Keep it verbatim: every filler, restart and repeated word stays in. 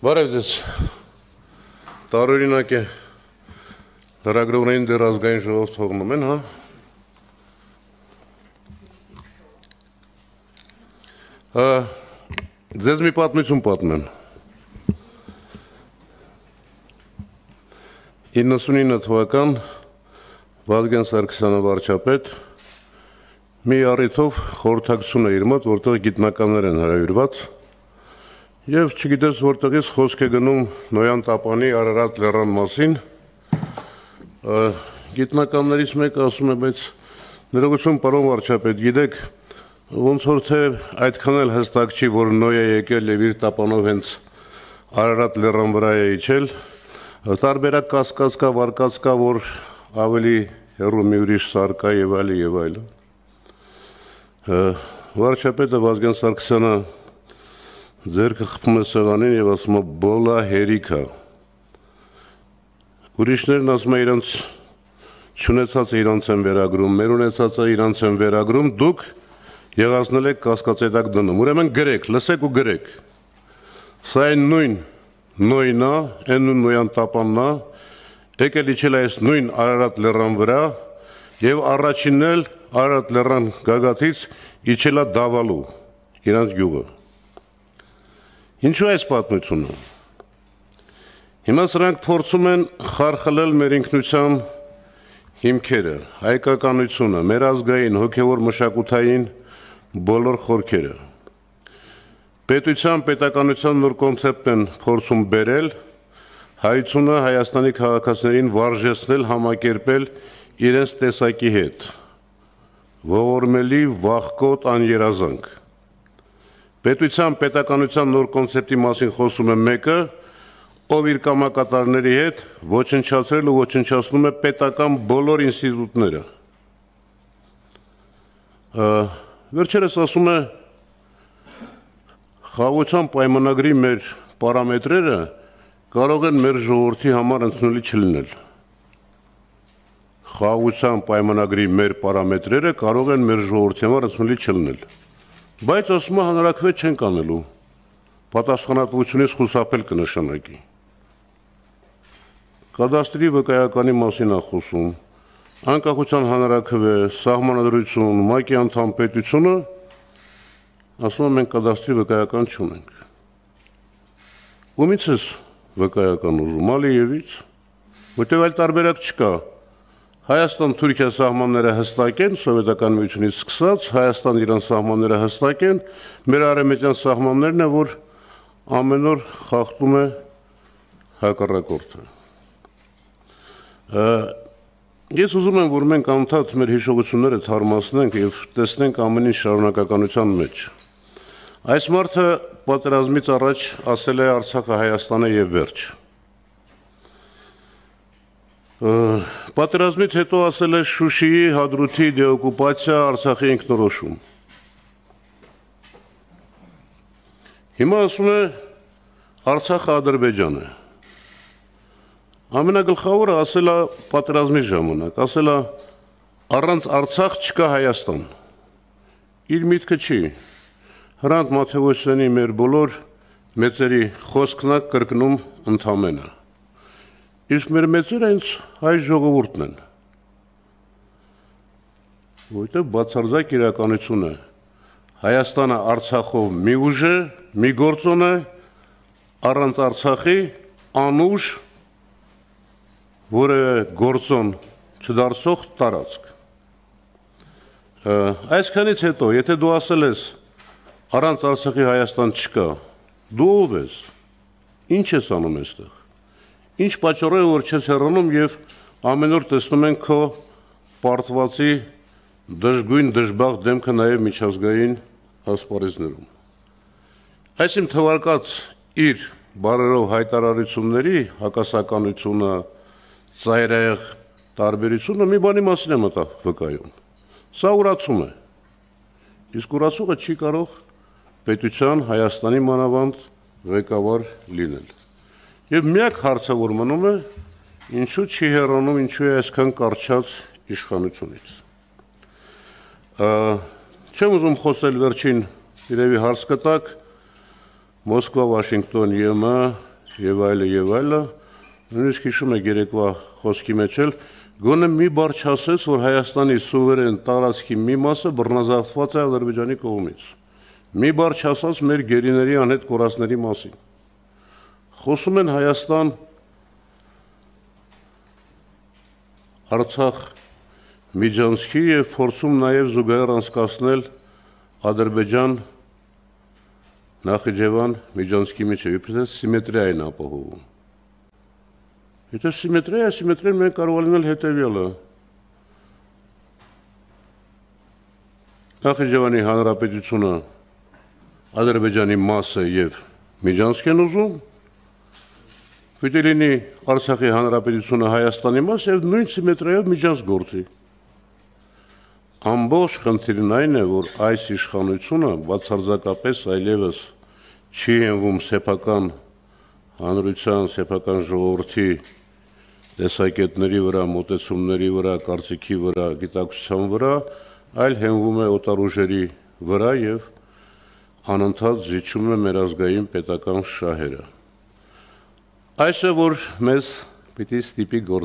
Բարև ձեզ, տարօրինակ է, լրագրողներին դեռ ազգային ժողով թողնում են, հա? Ձեզ մի պատմություն պատմեմ։ իննսունինը թվական Վազգեն Սարգսյանը վարչապետ մի առիթով խորհրդակցություն է իր մոտ, որտեղ գիտնականներ են հրավիրված եւ չգիտես որտեղից խոսք է գնում Նոյան Տապանի Արարատ լեռան մասին։ Գիտնականներից մեկը ասում է, բայց ներողություն, պարոն վարչապետ, գիտեք, ոնց որ թե այդքան էլ հստակ չի, որ Նոյը եկել եւ իր տապանով հենց Արարատ լեռան վրա է իջել, տարբերակ կասկած կա, վարկած կա, որ ավելի հեռու մի ուրիշ սար կա եւ այլն եւ այլն։ Վարչապետը Վազգեն Սարգսյանը ձերքը խփում է սեղանին եւ ասում է բոլա հերիքա։ Ուրիշներն ասում է իրանց չունեցածը իրանց են վերագրում, մեր ունեցածը իրանց են վերագրում, դուք եղածնել եք կասկածետակ դնում։ Ուրեմն գրեք, լսեք ու գրեք։ Սա այն նույն Նոյնա, այն նույն Նոյան Տապանն է, եկել իջել այս նույն Արարատ լեռան վրա եւ առաջինն էլ Արարատ լեռան գագաթից իջել է Դավալու, իրանց գյուղը։ Ինչու այս պատմությունը։ Հիմա սրանք փորձում են խարխլել մեր ինքնության հիմքերը, հայկականությունը, մեր ազգային, հոգևոր մշակութային բոլոր խորքերը։ Պետության, պետականության նոր կոնցեպտ են փորձում բերել, հայությունը Հայաստանի քաղաքացիներին վարժեցնել, համակերպել իրենց տեսակի հետ, ողորմելի, վախկոտ, աներազանք։ Պետության, պետականության նոր կոնցեպտի մասին խոսում է մեկը, ով իր կամակատարների հետ ոչնչացրել ու ոչնչացնում է պետական բոլոր ինստիտուտները։ Վերջերս ասում է խաղաղության պայմանագրի մեր պարամետրերը կարող են մեր ժողովրդի համար ընդունելի չլինել։ Խաղաղության պայմանագրի մեր պարամետրերը կարող են մեր ժողովրդի համար ընդունելի չլինել։ Բայց ասում է հանրաքվե չենք անելու, պատասխանատվությունից խուսափել կնշանակի։ Կադաստրի վկայականի մասին է խոսում, անկախության հանրաքվե, սահմանադրություն, ՄԱԿ-ի անդամ պետությունը, ասում է մենք կադաստրի վկայական չունենք։ Ումից ես վկայական ուզում, Ալիևից, որտեղ այլ տարբերակ չկա։ Հայաստան-Թուրքիա սահմանները հստակ են, սովետական միությունից սկսած, Հայաստան իրան սահմանները հստակ են, մեր արևմտյան սահմաններն է, որ ամեն օր խախտում է հակառակորդը։ Ես ուզում եմ, որ մենք անդադ մեր հիշողությունները թարմացնենք եւ տեսնենք ամեն ինչ շարունակականության մեջ։ Այս մարդը պատերազմից առաջ ասել է Արցախը Հայաստան է եւ վերջ։ Պատերազմից հետո ասել է Շուշիի, Հադրութի դեօկուպացիա, Արցախի ինքնորոշում։ Հիմա ասում է Արցախը Ադրբեջան է։ Ամենագլխավորը ասել է պատերազմի ժամանակ, ասել է առանց Արցախ չկա Հայաստան։ Իր միտքը չի։ Հրանտ Մաթեոսյանի մեր բոլոր մեծերի խոսքն է կրկնում ընդամենը։ Իսկ մեր մեծերը հենց հայ ժողովուրդն են։ Որտեղ բացարձակ իրականություն է։ Հայաստանը Արցախով մի ուժ է, մի գործոն է, առանց Արցախի անուժ որևէ գործոն չդարձող տարածք։ Այսքանից հետո, եթե դու ասել ես առանց Արցախի Հայաստան չկա, դու ով ես, ինչ ես անում այստեղ։ Ինչ պատճառով է, որ չես հեռանում եւ ամեն օր տեսնում ենք քո պարտվածի դժգույն դժբախտ դեմքը նաեւ միջազգային ասպարեզներում։ Այս իմ թվարկած իր բարերով հայտարարությունների հակասականությունը, ծայրահեղ տարբերությունը մի բանի մասին է մտա վկայում։ Սա ուրացում է։ Իսկ ուրացողը չի կարող պետության Հայաստանի մանավանդ ղեկավար լինել։ Եվ միակ հարցը, որ մնում է, ինչու չի հեռանում, ինչու է այսքան կարճած իշխանությունից։ Չեմ ուզում խոսել վերջին իրևի հարց կտակ, Մոսկվա, Վաշինգտոն, ԵՄ եւ այլը եւ այլը, նույնիսկ հիշում եք երեկվա խոսքի մեջ էլ գոնե մի բառ չասեց, որ Հայաստանի սուվերեն տարածքի մի մասը բռնազավթված է Ադրբեջանի կողմից։ Մի բառ չասած մեր գերիների անհետ կորածների մասին։ Խոսում են Հայաստան Արցախ միջանցքի եւ փորձում նաեւ զուգահեռ անցկացնել Ադրբեջան Նախիջևան միջանցքի միջև, իբրև սիմետրիա են ապահովում։ Եթե սիմետրիա, սիմետրիան մենք կարող լինել հետևյալը։ Նախիջևանի Հանրապետությունը Ադրբեջանի մաս է եւ միջանցք են ուզում, պիտի լինի Արցախի Հանրապետությունը Հայաստանի մաս եւ նույն սիմետրիայով միջանցք գործի։ Ամբողջ խնդիրն այն է, որ այս իշխանությունը բացարձակապես այլևս չի հենվում սեփական հանրության, սեփական ժողովրդի տեսակետների վրա, մոտեցումների վրա, կարծիքի վրա, գիտակցության վրա, այլ հենվում է օտար ուժերի վրա եւ անընդհատ զիջում է մեր ազգային պետական շահերը։ Այս է որ մեզ պիտի ստիպի գործ